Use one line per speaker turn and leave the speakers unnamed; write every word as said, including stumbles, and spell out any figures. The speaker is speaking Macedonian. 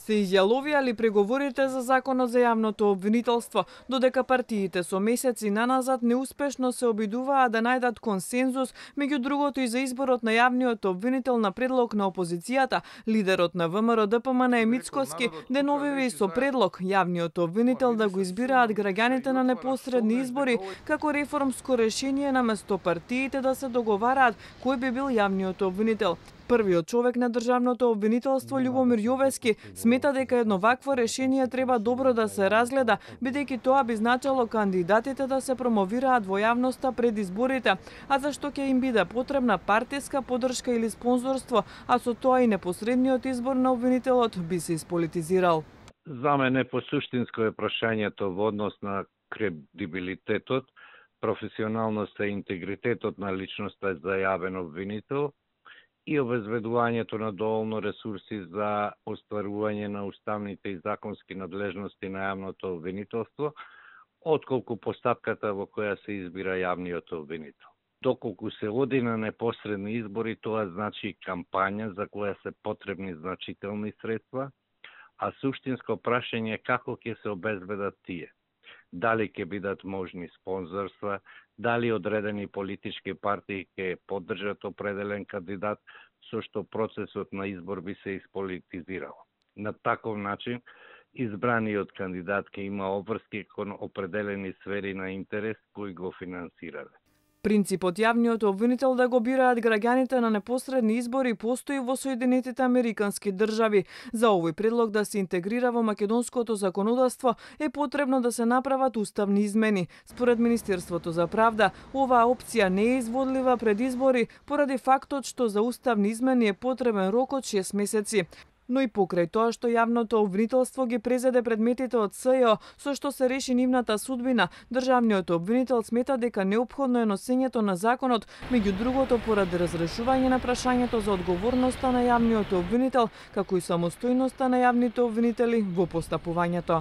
Се изјаловија ли преговорите за законот за јавното обвинителство, додека партиите со месеци наназад неуспешно се обидуваа да најдат консензус, меѓу другото и за изборот на јавниот обвинител на предлог на опозицијата, лидерот на ВМРО Д П М Н Мицкоски деновиве и со предлог јавниот обвинител да го избираат граѓаните на непосредни избори како реформско решение наместо партиите да се договараат кој би бил јавниот обвинител. Првиот човек на државното обвинителство Љубомир Јовески смета дека едно вакво решение треба добро да се разгледа, бидејќи тоа би значило кандидатите да се промовираат во јавноста пред изборите, а зашто ќе им биде потребна партиска поддршка или спонзорство, а со тоа и непосредниот избор на обвинителот би се исполитизирал.
За мене посуштинско е прашањето во однос на кредибилитетот, професионалноста и интегритетот на личноста за јавен обвинител и обезбедувањето на доволно ресурси за остварување на уставните и законски надлежности на јавното обвинителство, отколку постапката во која се избира јавниот обвинител. Доколку се оди на непосредни избори, тоа значи кампања за која се потребни значителни средства, а суштинско прашање е како ќе се обезбедат тие. Дали ќе бидат можни спонзорства, дали одредени политички партии ќе поддржат определен кандидат, со што процесот на избор би се исполитизирал. На таков начин, избраниот кандидат ќе има обврски кон определени сфери на интерес кои го финансирале.
Принципот јавниот обвинител да го бираат граѓаните на непосредни избори постои во Соединетите Американски држави. За овој предлог да се интегрира во македонското законодавство е потребно да се направат уставни измени. Според Министерството за правда, оваа опција не е изводлива пред избори поради фактот што за уставни измени е потребен рок од шест месеци. Но и покрај тоа што јавното обвинителство ги презеде предметите од С Ј О, со што се реши нивната судбина, државниот обвинител смета дека неопходно е носењето на законот, меѓу другото поради разрешување на прашањето за одговорноста на јавниот обвинител, како и самостојноста на јавните обвинители во постапувањето.